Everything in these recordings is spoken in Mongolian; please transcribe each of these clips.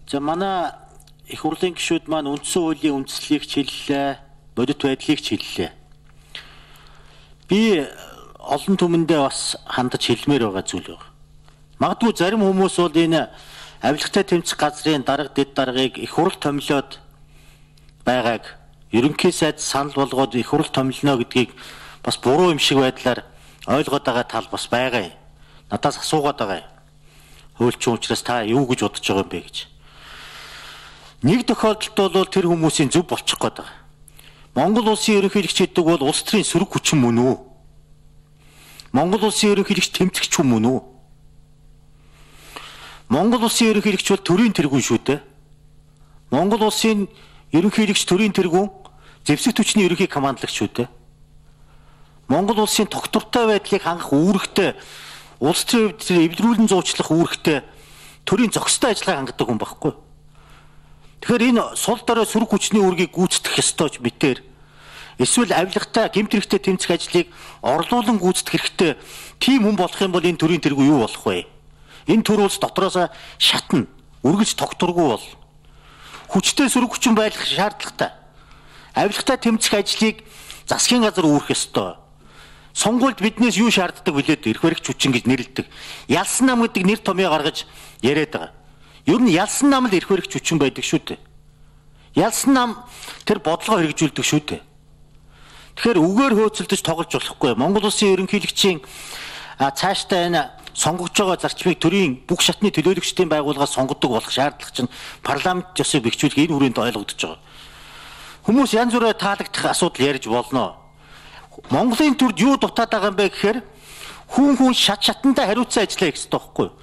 За манай их хурлын гишүүд маань үндсэн хуулийн үндслийг хэллээ, бодит байдлыг хэллээ. Би олон түмэндээ бас хандаж хэлмээр байгаа зүйл байна. Магадгүй зарим хүмүүс бол энэ авилгатай тэмцэх газрын дарга дэд даргыг их хурл томилоод байгааг ерөнхий сайд санал болгоод их хурл томилно гэдгийг бас буруу юм шиг байдлаар ойлгоод байгаа тал бас байгаа юм. Надаас асуугаад байгаа юм. Хуульчин учраас та юу гэж бодож байгаа юм бэ гэж. Нэг тохиолдолд бол тэр хүмүүсийн зөв болчих гээд байгаа. Монгол улсын ерөнхийлөгч гэдэг бол улс төрийн сөрөг хүчин мөн үү? Монгол улсын ерөнхийлөгч тэмцэгч хүн мөн үү? Монгол улсын ерөнхийлөгч бол төрийн тэргүүн шүү дээ. Монгол улсын ерөнхийлөгч төрийн тэргүүн, зэвсэг түвшний ерөнхий командлагч шүү дээ. Монгол улсын тогтвортой байдлыг хангах үүрэгтэй, улс төрийн эвдрүүлэн зуучлах үүрэгтэй төрийн зохистой ажиллагаа хангадаг хүн байхгүй. Тэгэхээр энэ сул дорой сөрөг хүчний үүргийг гүйцэтгэх ёстой ч мэтэр эсвэл авилгатай гэмт хэрэгтэй тэмцэх ажлыг орлуулан гүйцэтгэх хэрэгтэй тийм хүн болох юм бол энэ төрийн тэргүү юу болох вэ? Энэ төр улс дотроос шатна, үргэлж тогтворгүй бол хүчтэй сөрөг хүчин байх шаардлагатай. Авилгатай тэмцэх ажлыг засгийн газар үүрэх ёстой. Сонгуульд биднээс юу шаарддаг вүлээд эрх баригч хүчин гэж нэрлэдэг. Ялсан нам гэдэг нэр томьёо гаргаж яриад байгаа. Ер нь ялсан нам л эрх баригч хүчин байдаг шүү дээ. Ялсан нам тэр бодлогоо хэрэгжүүлдэг шүү дээ. Тэгэхээр үгээр хөөцөлдөж тоглож болохгүй. Монгол улсын ерөнхийлөгчийн цаашдаа энэ сонгогдож байгаа зарчмыг төрийн бүх шатны төлөөлөгчдийн байгууллагаас сонгодог болох шаардлага чинь парламент ёсыг бэхжүүлэх энэ хүрээнд ойлгогдож байгаа. Хүмүүс янз бүрээр таалагдах асуудал ярьж болно. Монголын төрд юу дутаад байгаа юм бэ гэхээр хүн шатандаа хариуцсан ажиллаа хийх хэрэгтэй байхгүй юу?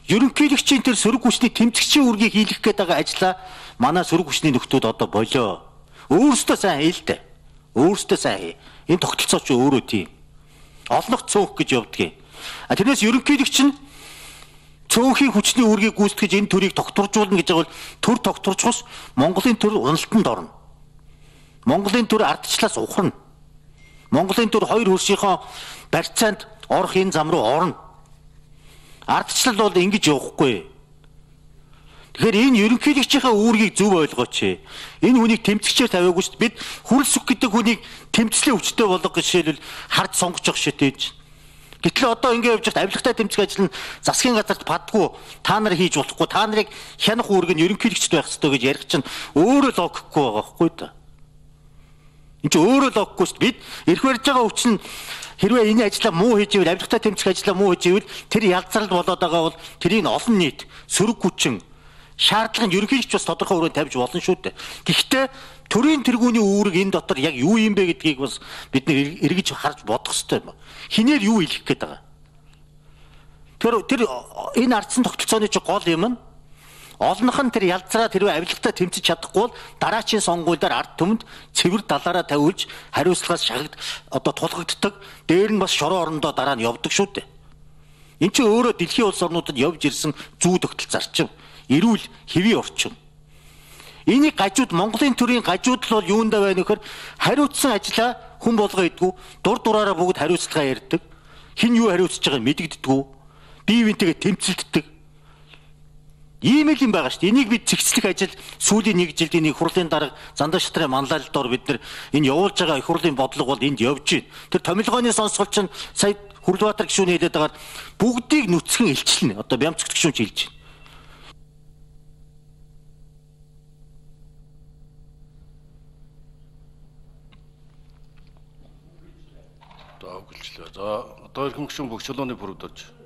Ерөнхийлөгчийн тэр сөрөг хүчний тэмцэгчийн үргийг хийх гээд байгаа ажлаа манай сөрөг хүчний нөхдүүд одоо болоо. Өөрөөсөө сайн хийлдэ. Өөрөөсөө сайн хий. Энэ тогтолцоо ч өөрөө тийм. Олнох цөөх гэж явдгийг. Тэрнээс ерөнхийлөгч нь цөөхийн хүчний үргийг гүйцэтгэж энэ төрийг тогтворжуулна гэж байгаа бол төр тогтворжхос Монголын төр уналтанд орно. Монголын төр ардчлалаас ухарна. Монголын төр хоёр хөршийнхөө барьцаанд орох энэ зам руу орно. Ардчлал бол ингэж явахгүй. Тэгэхээр энэ ерөнхийлөгчийнхээ үүргийг зөв ойлгооч. Энэ хүнийг тэмцэгчээр тавиагүй шүү дээ. Бид хүрлсүх гэдэг хүнийг тэмцлийн өвчтөй болгох гэж жишээлбэл хард сонгож явах шидээж. Гэтэл одоо ингэ явж байхад авилгатай тэмцэх ажил нь засгийн газарт падгүй, та нар хийж болохгүй, та нарыг хянах үүрэг нь ерөнхийлөгчд байх ёстой гэж ярих чинь өөрөө логикгүй байгаа байхгүй да. Энд чинь өөрөө логикгүй шүү дээ. Бид эрх барьж байгаа өвчин хэрвээ энэ ажлаа муу хийж ивэл, авилгатай тэмцэх ажлаа муу хийж ивэл тэр ялцрал болоод байгаа бол тэрийг олон нийт сөрөг хүчин шаардлага нь ерөнхийлөгч бас тодорхой хүрээнд тавьж болно шүү дээ. Гэхдээ төрийн тэргүүний үүрэг энэ дотор яг юу юм бэ гэдгийг бас бид нэр эргэж харж бодох хэрэгтэй юм. Хинээр юу хэлэх гээд байгаа. Тэр энэ ардсан тогтолцооны чи гол юм нь олнох нь тэр ялцраа тэрвээ авилгатай тэмцэж чадахгүй бол дараачийн сонгуульдаар ард түмэнд цэвэр далаараа тавиулж хариуцлагаас шагд одоо тулгагддаг. Дээр нь бас шороо орондоо дараа нь явдаг шүү дээ. Энд чинь өөрөө дэлхийн улс орнуудад явж ирсэн зүү тогтол зарчим, эрүүл хэвийн орчин. Энийг гажууд Монголын төрийн гажууд л бол юундаа байна нөхөр хариуцсан ажлаа хүн болгоо идэггүй, дур дураараа бүгд хариуцлага ярьдаг. Хин юу хариуцж байгааг мэдэгддэггүй. Бие биентэйгээ тэмцэлддэг. Ийм л юм байгаа шүү дээ. Энийг бид цэгцлэх ажил сүүлийн нэг жилд энэ хурлын дарга Зандаа шатрын манлайлалдоор бид нар энэ явуулж байгаа их хурлын бодлого бол энд явж байна. Тэр томилгооны сонсгол чинь сая Хүрлбаатар гишүүний хэлээд байгаа бүгдийг нүцгэн илчилнэ. Одоо Бямцгт гишүүн ч хэлж байна. За одоо иргэн гишүүн бүх чулууны бүрд орж.